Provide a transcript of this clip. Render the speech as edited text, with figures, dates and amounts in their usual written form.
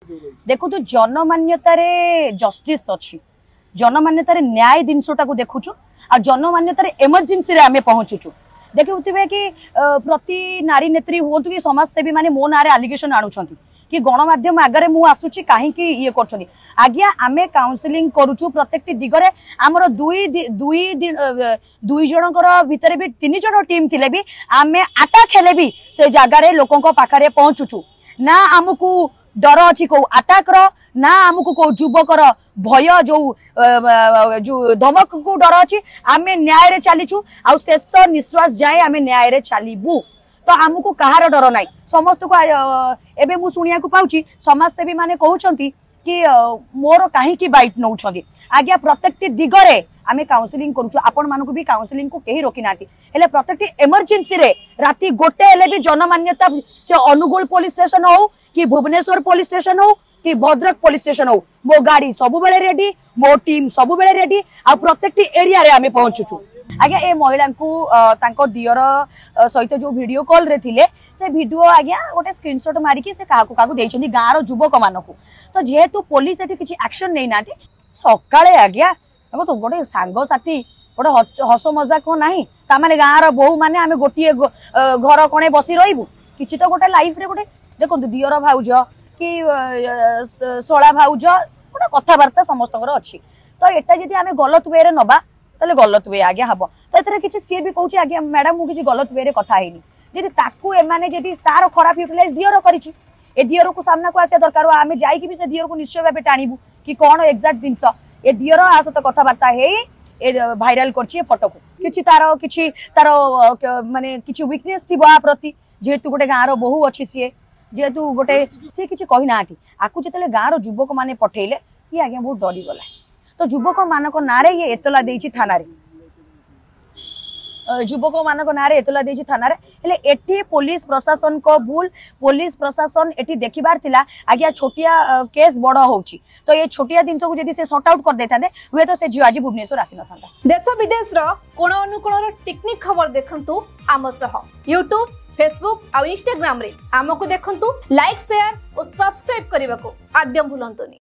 ଦେଖନ୍ତୁ, ଜନମାନ୍ୟତାରେ ଜଷ୍ଟିସ୍ ଅଛି, ଜନମାନ୍ୟତାରେ ନ୍ୟାୟ ଜିନିଷଟାକୁ ଦେଖୁଛୁ ଆଉ ଜନମାନ୍ୟତାରେ ଏମର୍ଜେନ୍ସିରେ ଆମେ ପହଞ୍ଚୁଛୁ। ଦେଖୁଥିବେ କି ପ୍ରତି ନାରୀ ନେତ୍ରୀ ହୁଅନ୍ତୁ କି ସମାଜସେବୀ ମାନେ ମୋ ନାଁରେ ଆଲିଗେସନ ଆଣୁଛନ୍ତି କି ଗଣମାଧ୍ୟମ ଆଗରେ ମୁଁ ଆସୁଛି, କାହିଁକି ଇଏ କରୁଛନ୍ତି? ଆଜ୍ଞା, ଆମେ କାଉନସିଲିଂ କରୁଛୁ ପ୍ରତ୍ୟେକଟି ଦିଗରେ। ଆମର ଦୁଇ ଦୁଇ ଦୁଇ ଜଣଙ୍କର ଭିତରେ ବି 3 ଜଣ ଟିମ୍ ଥିଲେ ବି ଆମେ ଆଟାକ୍ ହେଲେ ବି ସେ ଜାଗାରେ ଲୋକଙ୍କ ପାଖରେ ପହଞ୍ଚୁଛୁ। ନା ଆମକୁ ଡର ଅଛି କୋଉ ଆଟାକର, ନା ଆମକୁ କୋଉ ଯୁବକର ଭୟ, ଯୋଉ ଯୋଉ ଧମକକୁ ଡର ଅଛି। ଆମେ ନ୍ୟାୟରେ ଚାଲିଛୁ ଆଉ ଶେଷ ନିଶ୍ୱାସ ଯାଏ ଆମେ ନ୍ୟାୟରେ ଚାଲିବୁ। ତ ଆମକୁ କାହାର ଡର ନାହିଁ। ସମସ୍ତଙ୍କୁ ଏବେ ମୁଁ ଶୁଣିବାକୁ ପାଉଛି ସମାଜସେବୀ ମାନେ କହୁଛନ୍ତି କି ମୋର କାହିଁକି ବାଇଟ୍ ନଉଛନ୍ତି? ଆଜ୍ଞା, ପ୍ରତ୍ୟେକଟି ଦିଗରେ ଆମେ କାଉନସିଲିଂ କରୁଛୁ। ଆପଣମାନଙ୍କୁ ବି କାଉନସିଲିଂକୁ କେହି ରୋକି ନାହାନ୍ତି। ହେଲେ ପ୍ରତ୍ୟେକଟି ଏମର୍ଜେନ୍ସିରେ ରାତି 1 ହେଲେ ବି ଜନମାନ୍ୟତା, ସେ ଅନୁଗୁଳ ପୋଲିସ ଷ୍ଟେସନ ହଉ କି ଭୁବନେଶ୍ୱର ପୋଲିସ ଷ୍ଟେସନ ହଉ କି ଭଦ୍ରକ ପୋଲିସ ଷ୍ଟେସନ ହଉ, ମୋ ଗାଡି ସବୁବେଳେ ରେଡି, ମୋ ଟିମ୍ ସବୁବେଳେ ରେଡି ଆଉ ପ୍ରତ୍ୟେକଟି ଏରିଆରେ ଆମେ ପହଞ୍ଚୁଛୁ। ଆଜ୍ଞା, ଏ ମହିଳାଙ୍କୁ ତାଙ୍କ ଦିଅର ସହିତ ଯୋଉ ଭିଡିଓ କଲରେ ଥିଲେ, ସେ ଭିଡିଓ ଆଜ୍ଞା ଗୋଟେ ସ୍କ୍ରିନସଟ୍ ମାରିକି ସେ କାହାକୁ କାହାକୁ ଦେଇଛନ୍ତି, ଗାଁର ଯୁବକ ମାନଙ୍କୁ। ତ ଯେହେତୁ ପୋଲିସ ଏଠି କିଛି ଆକ୍ସନ ନେଇନାହାନ୍ତି, ସକାଳେ ଆଜ୍ଞା ଦେଖନ୍ତୁ, ଗୋଟେ ସାଙ୍ଗସାଥି ଗୋଟେ ହସ ମଜା କଣ ନାହିଁ? ତାମାନେ ଗାଁର ବୋହୂ ମାନେ ଆମେ ଗୋଟିଏ ଘର କଣେ ବସି ରହିବୁ? କିଛି ତ ଗୋଟେ ଲାଇଫରେ ଗୋଟେ, ଦେଖନ୍ତୁ, ଦିଅର ଭାଉଜ କି ଶଳା ଭାଉଜ ଗୋଟେ କଥାବାର୍ତ୍ତା ସମସ୍ତଙ୍କର ଅଛି। ତ ଏଟା ଯଦି ଆମେ ଗଲତ ୱେରେ ନବା, ତାହେଲେ ଗଲତ we ଆଜ୍ଞା ହବ। ତ ଏଥିରେ କିଛି ସିଏ ବି କହୁଛି, ଆଜ୍ଞା ମ୍ୟାଡାମ, ମୁଁ କିଛି ଗଲତ ୱେରେ କଥା ହେଇନି। ଯଦି ତାକୁ ଏମାନେ ଯଦି ତାର ଖରାପ ୟୁଟିଲାଇଜ ଦିଅର କରିଛି, ଏ ଦିଅରକୁ ସାମ୍ନାକୁ ଆସିବା ଦରକାର। ଆମେ ଯାଇକି ବି ସେ ଦିଅରକୁ ନିଶ୍ଚୟ ଭାବେ ଟାଣିବୁ କି କଣ ଏକ୍ଜାକ୍ଟ ଜିନିଷ ଏ ଦିଅର ଆ ସହିତ କଥାବାର୍ତ୍ତା ହେଇ ଏ ଭାଇରାଲ କରିଛି ଏ ଫଟୋକୁ। କିଛି ତାର ମାନେ କିଛି ୱିକନେସ୍ ଥିବ ଆ ପ୍ରତି, ଯେହେତୁ ଗୋଟେ ଗାଁର ବୋହୂ ଅଛି ସିଏ, ଯେହେତୁ ଗୋଟେ ସିଏ କିଛି କହିନାହାନ୍ତି। ଆକୁ ଯେତେବେଳେ ଗାଁର ଯୁବକ ମାନେ ପଠେଇଲେ, ଇଏ ଆଜ୍ଞା ବହୁତ ଡରିଗଲା। ତ ଯୁବକ ମାନଙ୍କ ନାଁରେ ଇଏ ଏତଲା ଦେଇଛି ଥାନାରେ, ଯୁବକ ମାନଙ୍କ ନାଁରେ ଏତଲା ଦେଇଛି ଥାନାରେ। ହେଲେ ଏଠି ପୋଲିସ ପ୍ରଶାସନଙ୍କ ଭୁଲ। ପୋଲିସ ପ୍ରଶାସନ ଏଠି ଦେଖିବାର ଥିଲା ଆଜ୍ଞା, ଛୋଟିଆ କେସ୍ ବଡ ହଉଛି। ତ ଏ ଛୋଟିଆ ଜିନିଷକୁ ଯଦି ସେ ସର୍ଟ ଆଉଟ୍ କରିଦେଇଥାନ୍ତେ, ହୁଏତ ସେ ଝିଅ ଆଜି ଭୁବନେଶ୍ୱର ଆସିନଥାନ୍ତା। ଦେଶ ବିଦେଶର କୋଣ ଅନୁକୋଣର ଟିକିନିଖି ଖବର ଦେଖନ୍ତୁ ଆମ ସହ ୟୁଟ୍ୟୁବ, ଫେସବୁକ୍ ଆଉ ଇନଷ୍ଟାଗ୍ରାମରେ ଆମକୁ ଦେଖନ୍ତୁ। ଲାଇକ୍, ସେୟାର ଓ ସବସ୍କ୍ରାଇବ କରିବାକୁ ଆଦୌ ଭୁଲନ୍ତୁନି।